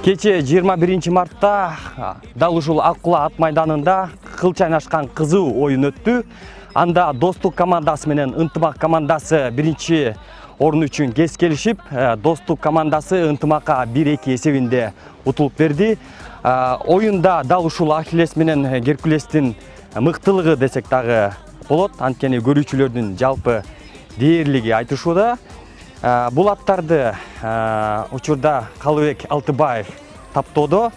Кече 21 мартта дал ушул Аккула ат майданында кыл чайнашкан кызуу оюн өттү. Анда Достук командасы менен Ынтымак командасы биринчи орун үчүн кес келишип, Достук командасы Ынтымакка 1-2 эсебинде утулуп берди. Оюнда дал ушул Ахиллес менен Геркулестин мыктылыгы десек дагы болот. Анткени көрүүчүлөрдүн жалпы дээрлиги айтышууда. Бул аттарды учурда Калыбек Алтыбаев таптоодо.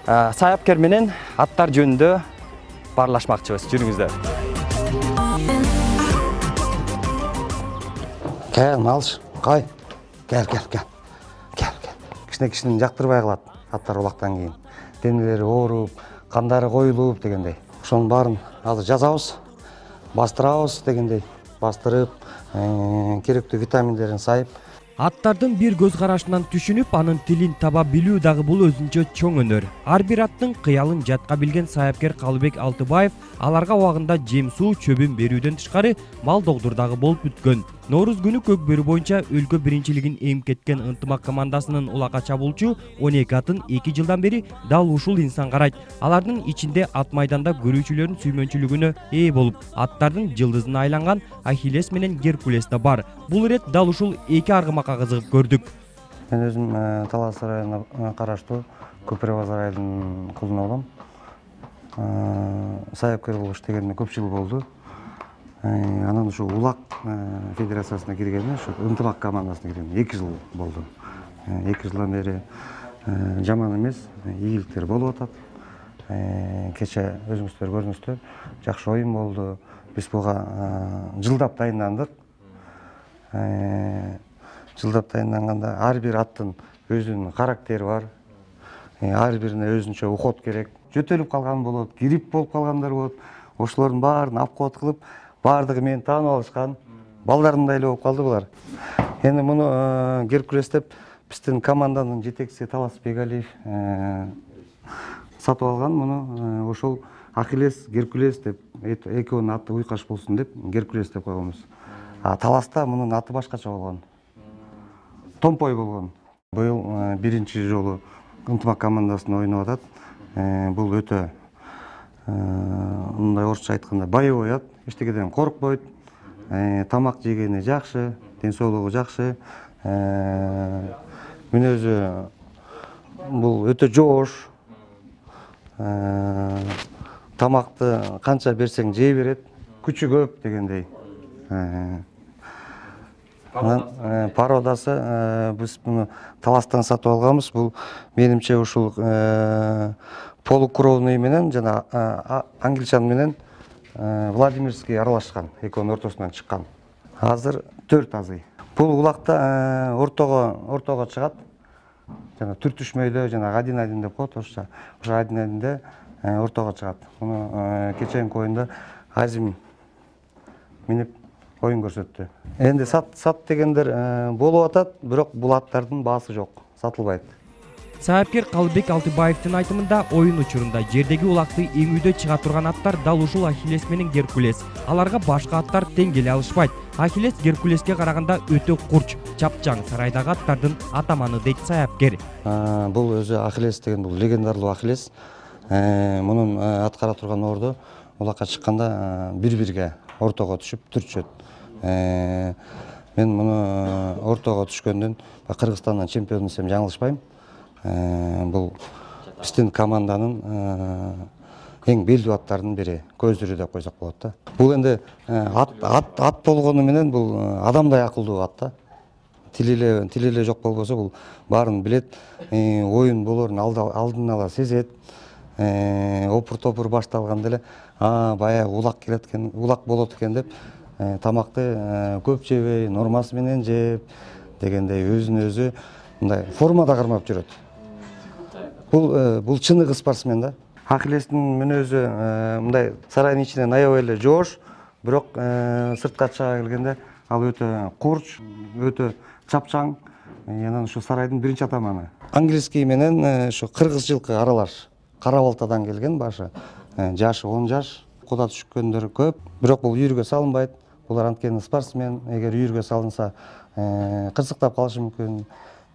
Саяпкер менен аттар жөнүндө баарлашмакчыбыз. Жүрүңүздөр. Кел, малыш, кай. Кел. Кичине жактырбай калат аттар улактан кийин. Денелери ооруп, кандары коюлуп дегендей. Ошонун баарын азыр жазабыз, бастырабыз дегендей. Бастырып, керектүү витаминдерин сайып. Аттардын бир көз карашынан түшүнүп, анын тилин таба билүү дагы бул өзүнчө чоң өнөр. Ар бир аттын кыялын жатка билген саяпкер Калыбек Алтыбаев аларга убагында жем суу чөбүн берүүдөн тышкары мал догдур дагы болуп бүткөн. Нооруз күнү көк бөрү боюнча өлкө биринчилигин эми кеткен Ынтымак командасынын улакка чабуулчу 12 атын 2 жылдан бери дал ушул инсан карайт. Алардын ичинде ат майданда көрүүчүлөрдүн сүймөнчүлүгүнө ээ болуп, аттардын жылдызына айланган Ахиллес менен Геркулес да бар. Бул ирет дал ушул эки аргымакка кызыгып көрдүк. Мен өзүм Талас районуна караштуу Көпүрө-Базар айылынын кулуна болом. Саяпкер болуп иштегениме көп жыл болду. Анан ушу Улак федерациясына киргениме, ушу Ынтымак командасына киргениме 2 жыл болду. 2 жылдан бери жаман эмес, ийгиликтер болуп атат. Кече өзүңүздөр көрдүңүздөр, жакшы оюн болду. Биз буга жылдап дайындандык. Жылдап дайынданганда ар бир аттын өзүнүн характери бар. Ар бирине өзүнчө уход керек. Жөтөлүп калган болот, грипп болуп калгандар болот. Ошолордун баарын обход кылып, баардыгы мени таанып алышкан. Балдарымдай эле болуп калды булар. Эми муну Геркулес деп биздин команданын жетекчиси Талас Бегалиев сатып алган. Муну ошол Ахиллес, Геркулес деп экөөнүн аты уйкаш болсун деп Геркулес деп койгонбуз. Таласта мунун аты башкача болгон. Томпой болгон. Быйыл биринчи жолу Ынтымак командасында ойноп атат. Бул өтө мындай орусча айтканда боевой ат. Эчтекеден коркпойт. Тамак жегени жакшы, ден соолугу жакшы. Мүнөзү бул өтө жоош. Тамакты канча берсең жей берет, күчү көп дегендей. Пародасы биз муну Таластан сатып алганбыз. Бул менимче ушул полукровный менен жана англичан менен Владимирский аралашкан, экөөнүн ортосунан чыккан. Азыр 4 азый. Бул улакта ортого чыгат. Жана түртүшмөйдө, жана один деп коет орусча. Ошо адинде ортого чыгат. Муну кеченки оюнда Азим минип оюн көрсөттү. Энди сат дегендер болуп атат, бирок бул аттардын баасы жок, сатылбайт. Саяпкер Калыбек Алтыбаевдин айтымында оюн учурунда жердеги улакты эңүүдө чыга турган аттар дал ушул Ахиллес менен Геркулес. Аларга башка аттар тең келе алышпайт. Ахиллес Геркулеске караганда өтө курч, чапчаң сарайдагы аттардын атаманы дейт саяпкер. Бул өзү Ахиллес деген бул легендарлуу Ахиллес. Мунун аткара турган орду улакка чыкканда бир-бирге ортого түшүп түрчөт. Мен муну ортого түшкөндөн Кыргызстандан чемпион десем жаңылышпайм. Бул биздин команданын эң белдүү аттардын бири, көзүрү деп койсок болот да. Бул энди ат болгону менен бул адамдай акылдуу ат да. Тили эле жок болбосо бул баарын билет, оюн болорун алдын ала сезет. Опур-топур башталганда эле баягы улак келет экен, улак болот экен деп тамакты көп жебей, нормасы менен жеп дегендей өзүн өзү мындай формада кармап жүрөт. Бул чыныгы спортсмен да. Ахиллестин мүнөзү мындай сарайдын ичинен аябай эле жоош, бирок сыртка чыга келгенде ал өтө курч, өтө чапчаң. Анан ушу сарайдын биринчи атаманы. Английский менен ушу кыргыз жылкы аралаш. Кара балтадан келген башы. Жашы 10 жаш. Куда түшкөндөр көп. Бирок бул үйүргө салынбайт. Булар анткени спортсмен. Эгер үйүргө салынса кырсыктап калышы мүмкүн.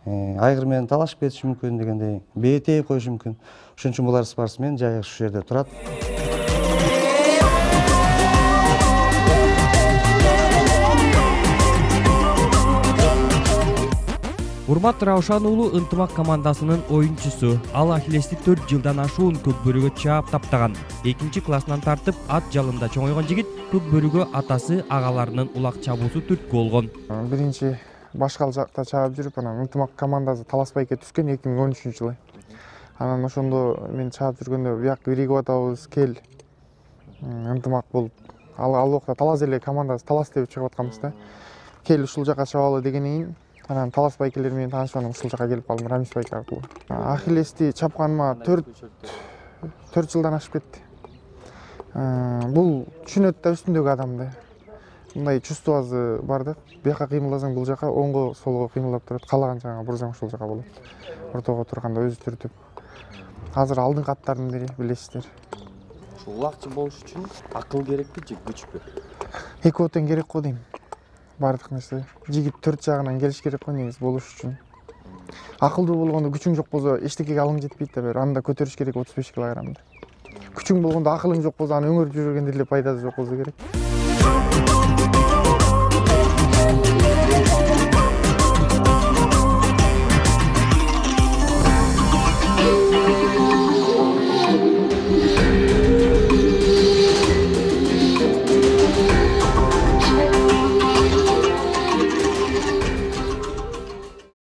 айгыр менен талашып кетиши мүмкүн дегендей, бээ тээп коюшу мүмкүн. Ошон үчүн булар спортсмен жайы ушул жерде турат. Урмат Раушан уулу ынтымак командасынын оюнчусу. Ал Ахиллести 4 жылдан ашуун көк бөрүгө чаап таптаган. 2-классынан тартып ат жалында чоңойгон жигит көк бөрүгө атасы агаларынын улак чабуусу түрткү болгон. Биринчи Башкал жакта чаап жүрүп, анан ынтымак командасы Таласбайке түскөн 2013-жылы. Анан ошондо мен чаап жүргөндө бияк биригип атабыз, кел ынтымак болуп. Ал убакта Талас эле командасы Талас деп чыгып атканбыз да. Кел ушул жака чабалы дегенден кийин анан Талас байкелер менен таанышып анан ушул жака келип калдым, Рамис байке аркылуу. Ахиллести чапканыма 4 жылдан ашып кетти. Бул түшүнөт да үстүндөгү адамды. Мындай чувствосы бар да. Бияка кыймылдасаң бул жака, оңго солго кыймылдап турат. Каалаган жагыңа бурсаң ушул жака болот. Ортого турганда өзү түртүп. Азыр алдыңкы аттардын бири, билесиздер. Ушул улакчы болуш үчүн акыл керекпи же күчпү? Экөө тең керек го дейм. Бардык нерсе. Жигит 4 жагынан келиш керек го негизи болуш үчүн. Акылдуу болгондо күчүң жок болсо эчтекеге алың жетпейт да бер. Анда көтөрүш керек 35 килограммды. Күчүң болгондо акылың жок болсо аны өңөрүп жүргөндө эле пайдасы жок болсо керек.